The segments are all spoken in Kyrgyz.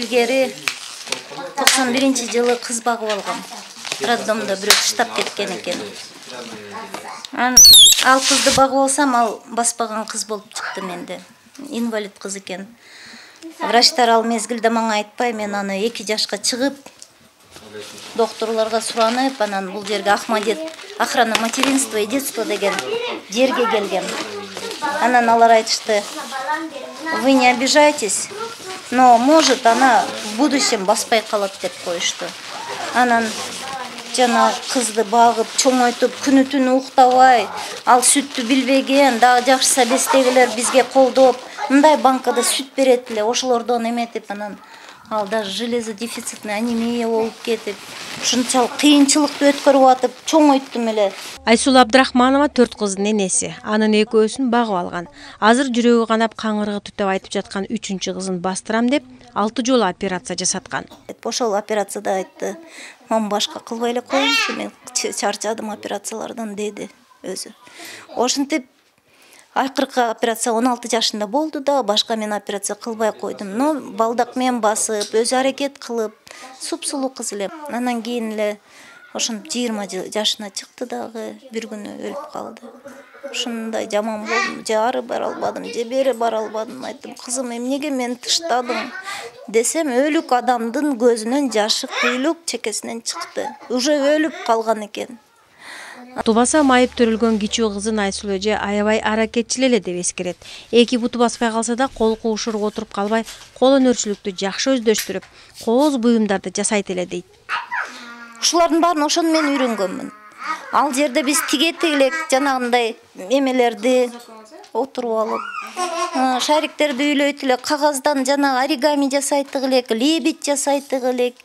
илгери 91-жылы кыз багып алгам. Роддомдо бирөө таштап кеткен экен. Ал кызды багып алсам, ал баспаган кыз болуп чыкты менде. Инвалид кыз экен. Врачтар ал мезгилде мага айтпай, мен аны 2 жашка чыгып, докторлорго суранып, анан бул жерге Ахмадет охрана материнства и детства деген жерге келгем. Анан алар айтышты: "Вы не обижайтесь, но может она в будущем баспай калат" деп коюшту. Анан жана кызды багып, чоңойтуп, күнү-түнү уктабай, ал сүттү билбеген, дагы жакшысы абестегилер бизге колдоп, мындай банкада сүт берет эле, ошолордон эметип, анан ал даже железодефицитный анемия болуп кетип, ушунчалык кыйынчылыкты өткөрүп атып, чоңойттум эле. Айсулуу Абдрахманова 4 кыздын энеси. Анын экөөсүн багып алган. Азыр жүрөгү канап, каңырыгы түтөп айтып жаткан 3-чү кызын бастырам деп 6 жолу операция жасаткан. Ошол операцияда айтты: "Мен башка кылбай эле коеюнчу, мен чарчадым операциялардан" деди өзү. Ошентип акыркы операция 16 жашында болду да, башка мен операция кылбай койдум. Но балдак мен басып, өзү аракет кылып, супсулуу кыз эле. Анан кийин эле ошентип 20 жашына чыкты дагы, бир күнү өлүп калды. Ушундай жаман болдум, же ары бара албадым, же бери бара албадым. Айттым: "Кызым, эмнеге мени таштадың?" десем, өлүк адамдын көзүнөн жашы куйлук чекесинен чыкты. Уже өлүп калган экен. Тубаса майып төрөлгөн кичүү кызын Айсулуу эже аябай аракетчил эле деп эскерет. Эки буту баспай калса да кол куушуруп отуруп калбай, кол өнөрчүлүктү жакшы өздөштүрүп, кооз буюмдарды жасайт эле дейт. Ушулардын баарын ошону мен үйрөнгөнмүн. Ал жерде биз тигет элек, жанагындай эмелерди отуруп алып, шариктерди үйлөйт элек, кагаздан жана оригами жасайт элек, лебедь жасайт элек.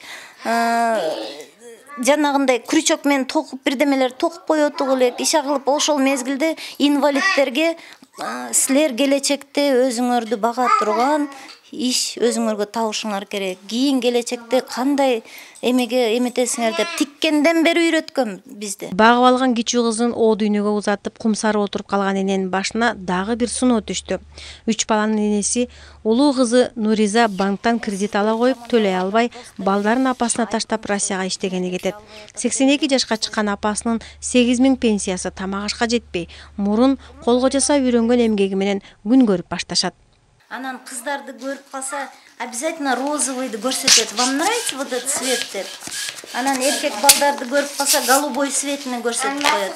Жанагындай крючок менен токуп, бирдемелер токуп коет элек. Иши кылып, ошол мезгилде инвалидтерге силер келечекте өзүңөрдү бага турган иш өзүңөргө табышыңар керек. Кийин келечекте кандай эмеге эметесиңер деп тиккенден бери үйрөткөн бизди. Багып алган кичүү кызын о дүйнөгө узатып, кумсары отуруп калган эненин башына дагы бир сыноо түштү. 3 баланын энеси улуу кызы Нуриза банктан кредит ала коюп, төлөй албай, балдарын апасына таштап Россияга иштегени кетет. 82 жашка чыккан апасынын 8000 пенсиясы тамак ашка жетпей, мурун колго жасап үйрөнгөн эмгеги менен күн көрүп башташат. Анан кыздарды көрүп калса, обязательно розовыйды көрсөтөт. "Вам нравится вот этот цвет?" деп. Анан эркек балдарды көрүп калса, голубой цветini көрсөтүп коет.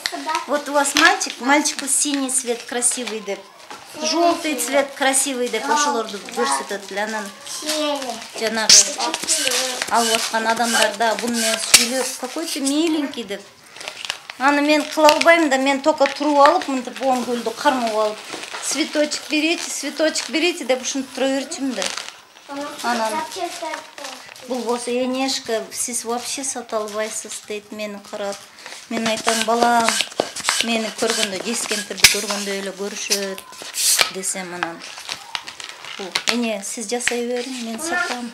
"Вот у вас мальчик, мальчику синий цвет красивый" деп. "Желтый цвет красивый" деп ошолорду көрсөтөт эле. Анан жанагы алып аткан адамдар да буну менен сүйлөп, "Какой ты миленький" деп. Аны мен кыла албайм да, мен только туруп алып, мынтип оң гүлдү кармап алып, цветочек берите деп ушинтип тура берчүмүн да. Анан бул болсо: "Энешка, сиз вообще сата албайсыз" дейт мени карап. Мен айтам: "Балам, мени көргөндө, жез кемпирди көргөндөй эле көрүшөт" десем, анан "Эне, сиз жасай бериң, мен сатам"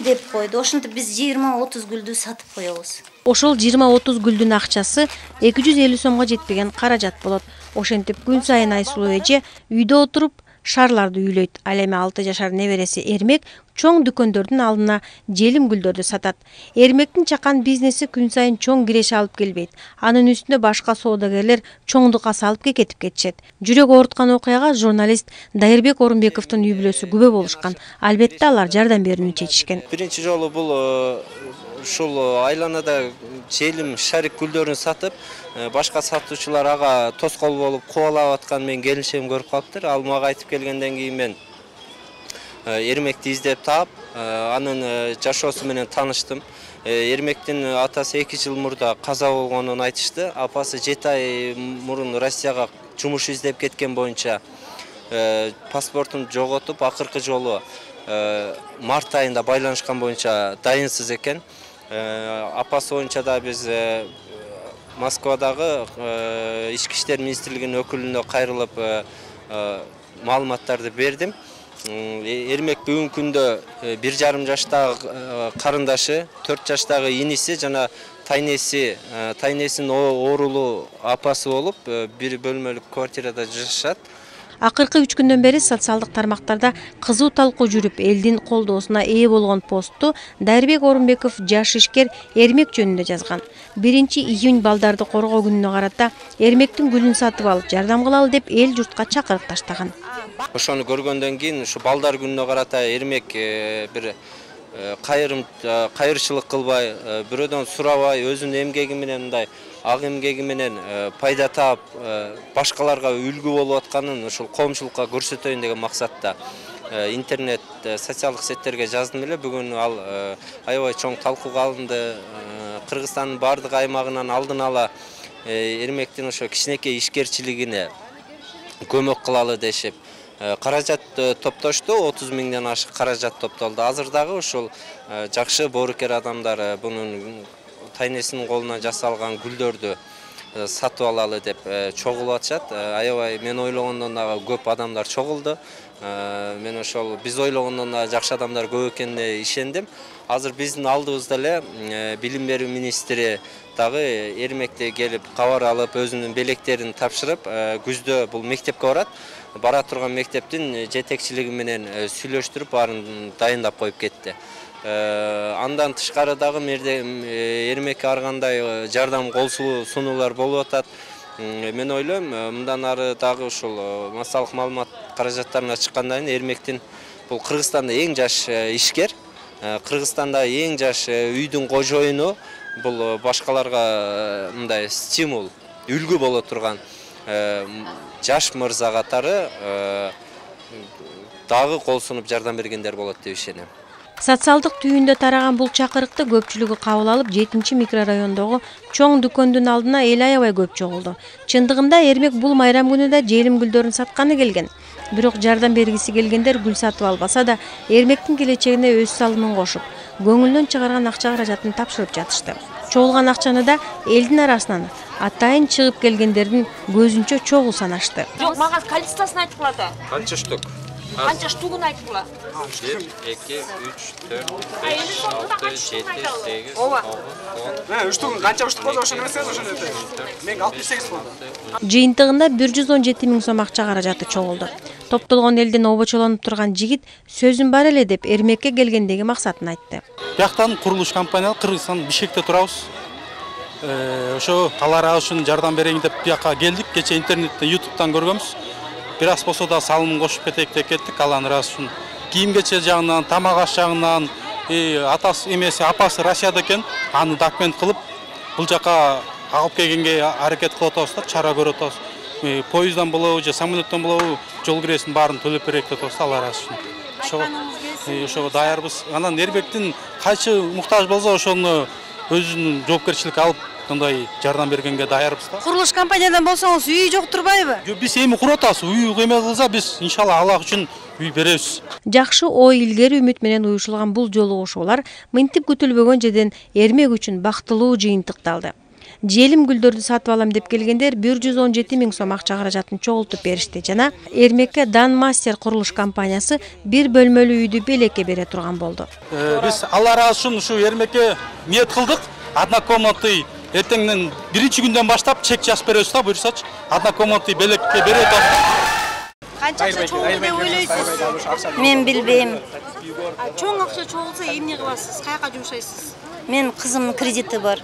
деп койду. Ошентип биз 20-30 гүлдү сатып коебуз. Ошол 20-30 гүлдүн акчасы 250 сомго жетпеген каражат болот. Ошентип күн сайын Айсулуу эже үйдө отуруп шарларды үйлөйт. Ал эми 6 жашар небереси Эрмек чоң дүкөндөрдүн алдына желим гүлдөрдү сатат. Эрмектин чакан бизнеси күн сайын чоң киреше алып келбейт. Анын үстүнө башка соодагерлер чоңдукка салып кетип кетишет. Жүрөк ооруткан окуяга журналист Дайырбек Орунбековдун үй бүлөсү күбө болушкан. Албетте алар жардам берүүнү чечишкен. Биринчи жолу бул ушул айланада желим шарик гүлдөрүн сатып, башка сатуучулар ага тоскоол болуп кубалап аткан мен келинчегим көрүп калыптыр. Ал мага айтып келгенден кийин мен Эрмекти издеп таап, анын жашоосу менен тааныштым. Эрмектин атасы 2 жыл мурда каза болгонун айтышты. Апасы 7 ай мурун Россияга жумуш издеп кеткен боюнча паспортун жоготуп, акыркы жолу март айында байланышкан боюнча дайынсыз экен. Апасы боюнча да биз Москвадагы Ички иштер министрлигинин өкүлүнө кайрылып маалыматтарды бердим. Эрмек бүгүнкү күндө 1,5 жаштагы карындашы, 4 жаштагы иниси жана тайнесинин оорулуу апасы болуп, бир бөлмөлүк квартирада жашашат. Акыркы 3 күндөн бери социалдык тармактарда кызуу талкуу жүрүп, элдин колдоосуна ээ болгон постту Дарбек Орунбеков жаш ишкер эрмек жөнүндө жазган. 1-июнь балдарды коргоо күнүнө карата эрмектин гүлүн сатып алып жардам кылалы деп эл журтка чакырык таштаган. Ошону көргөндөн кийин ушу балдар күнүнө карата эрмек бир кайырчылык кылбай, бирөөдөн сурабай, өзүнүн эмгеги менен мындай ак эмгеги менен пайда таап, башкаларга үлгү болуп атканын ушул коомчулукка көрсөтөйүн деген максатта интернет, социалдык сеттерге жаздым эле. Бүгүн ал аябай чоң талкууга алынды. Кыргызстандын бардык аймагынан алдын ала эрмектин ошо кичинекей ишкерчилигине көмөк кылалы дешип каражат топтошту. 30 миңден ашык каражат топтолду. Азыр дагы ушул жакшы боорукер адамдар бунун тайнесинин колуна жасалган гүлдөрдү сатып алалы деп чогулуп атышат. Аябай мен ойлогондон дагы көп адамдар чогулду. Мен ошол биз ойлогондон да жакшы адамдар көп экенине ишендим. Азыр биздин алдыбызда эле билим берүү министри дагы эрмекте келип кабар алып, өзүнүн белектерин тапшырып, күздө бул мектепке барат. Бара турган мектептин жетекчилиги менен сүйлөштүрүп, баарын дайындап коюп кетти. Андан тышкары дагы эрмекке ар кандай жардам кол сунуулар болуп атат. Мен ойлойм, мындан ары дагы ушул массалык маалымат каражаттарына чыккандан кийин эрмектин бул Кыргызстанда эң жаш ишкер, Кыргызстанда эң жаш үйдүн кожоюну, бул башкаларга мындай стимул, үлгү боло турган жаш мырза катары дагы кол сунуп жардам бергендер болот деп ишенем. Социалдык түйүндө тараган бул чакырыкты көпчүлүгү кабыл алып, 7-микрорайондогу чоң дүкөндүн алдына эл аябай көп чогулду. Чындыгында эрмек бул майрам күнүдө желим гүлдөрүн сатканы келген. Бирок жардам бергиси келгендер гүл сатып албаса да, эрмектин келечегине өз салымын кошуп, көңүлдөн чыгарган акча каражатын тапшырып жатышты. Чогулган акчаны да элдин арасынан атайын чыгып келгендердин көзүнчө чогуу санашты. Жок, мага количествосын айткыла да. Канча штук? Канча штугун айткыла? 1, 2, 3, 4, 5, 6, 7, 8, 9, 10. Үштүгүн канча штук болсо ошону эмес, ошону мен 68 болду. Жыйынтыгында 117 миң сом акча каражаты чогулду. Топтолгон элден обочолонуп турган жигит сөзүм бар эле деп эрмекке келгендеги максатын айтты. Бияктан курулуш компания Кыргызстан Бишкекте турабыз. Ошо талар үчүн жардам берейин деп бияка келдик. Кече интернетте, YouTube'дан көргөнбүз. Бир аз болсо да салымын кошуп кетейик деп кеттик. Алан раз үчүн кийим-кече жагынан, тамак аш жагынан, атасы эмеси апасы Россияда экен, аны документ кылып бул жака алып келгенге аракет кылып атабыз да, чара көрүп атабыз. Поезддан болобу же самолеттен болобу жол киресин баарын төлөп берейик деп атабыз алар раз үчүн. Ошого даярбыз. Анан эрмектин кайчы муктаж болсо ошону өзүнүн жоопкерчиликке алып мындай жардам бергенге даярбыз да. Курулуш компаниядан болсоңуз үй жок турбайбы? Биз эми куруп атабыз. Үй эме кылса биз иншалла Аллах үчүн үй беребиз. Жакшы ой, илгери үмүт менен уюшулган бул жолугушуулар мынтип күтүлбөгөн жерден эрмек үчүн бактылуу жыйынтыкталды. Желим гүлдөрдү сатып алам деп келгендер 117 миң сом акча каражатын чогултуп беришти жана эрмекке Дан Мастер курулуш компаниясы бир бөлмөлүү үйдү белекке бере турган болду. Биз Алла ыраазы үчүн ушу эрмекке ниет кылдык. Однокомнатный эртеңден 1-күндөн баштап чек жазып беребиз да, буйрсачы. Однокомнатный белекке бере атат. Канча акча чогулду деп ойлойсуз? Мен билбейм. Чоң акча чогулса эмне кыласыз? Каяка жумшайсыз? Мен кызымдын кредити бар.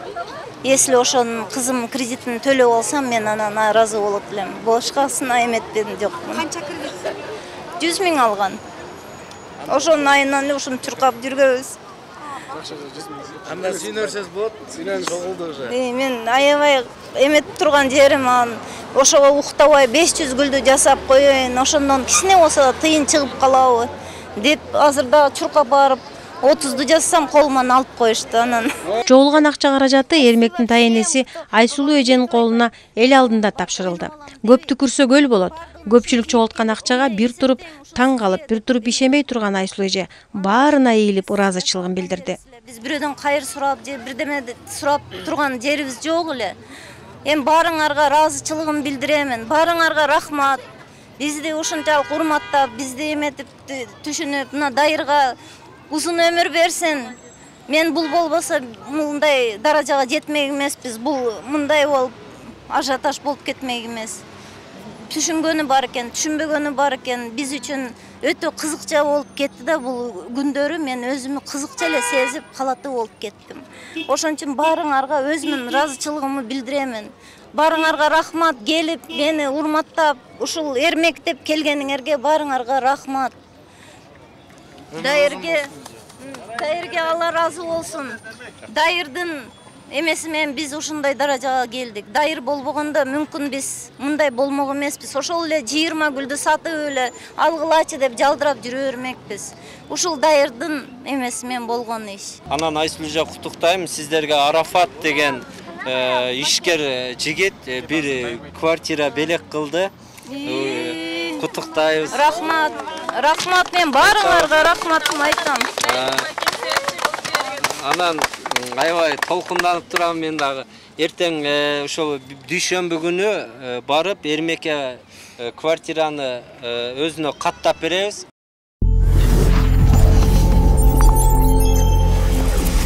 Если ошонун кызым кредитин төлөп алсам, мен анан ыраазы болот элем. Башкасына эметпедим, жокмун. Канча кредит? 100 миң алган. Ошонун айынан эле ушуну чуркап жүргөбүз. Анда сүйнөрсөз болот, сүйнөн чогулду уже. Мен аябай эметип турган жерим ошого уктабай 500 гүлдү жасап коеюн, ошондон кичине болсо да тыйын чыгып калабы деп азыр да чуркап барып 30ду жазсам колуман алып коюшту анан. Чогулган акча каражаты эрмектин тайенеси Айсулуу эженин колуна эл алдында тапшырылды. Көп түкүрсө көл болот. Көпчүлүк чогулткан акчага бир туруп таң калып, бир туруп ишенбей турган Айсулуу эже баарына ийилип ыраазычылыгын билдирди. Биз бирөөдөн кайыр сурап же бирдеме сурап турган жерибиз жок эле. Эми баарыңарга ыраазычылыгымды билдиремин. Баарыңарга рахмат. Бизди ушунчалык урматтап, бизди эметип түшүнүп, мына дайырга узун өмүр берсин. Мен бул болбосо мындай даражага жетмек эмеспиз. Бул мындай болуп ажиотаж болуп кетмек эмес. түшүнгөнү бар экен, түшүнбөгөнү бар экен. Биз үчүн өтө кызыкча болуп кетти да бул күндөрү. Мен өзүмү кызыкча эле сезип, калаттуу болуп кеттим. Ошон үчүн баарыңарга өзүмдүн ыраазычылыгымды билдиремин. Баарыңарга рахмат, келип мени урматтап, ушул эрмек деп келгениңерге баарыңарга рахмат. Дайырге Алла разы болсун. Дайырдын эмеси менен биз ушундай даражага келдик. Дайыр болбогондо мүмкүн биз мындай болмок эмеспиз. Ошол эле 20 гүлдү сатып эле алгылачы деп жалдырап жүрө бермекпиз. Ушул дайырдын эмеси менен болгон иш. Анан Айсулуу эже куттуктайм. Сиздерге Арафат деген ишкер жигит бир квартира белек кылды. Куттуктайбыз. Рахмат. Рахмат, мен баарыңарга рахматымды айтам. Анан аябай толкунданып турам мен дагы. Эртең ошол дүйшөмбү күнү барып Эрмекке квартираны өзүнө каттап беребиз.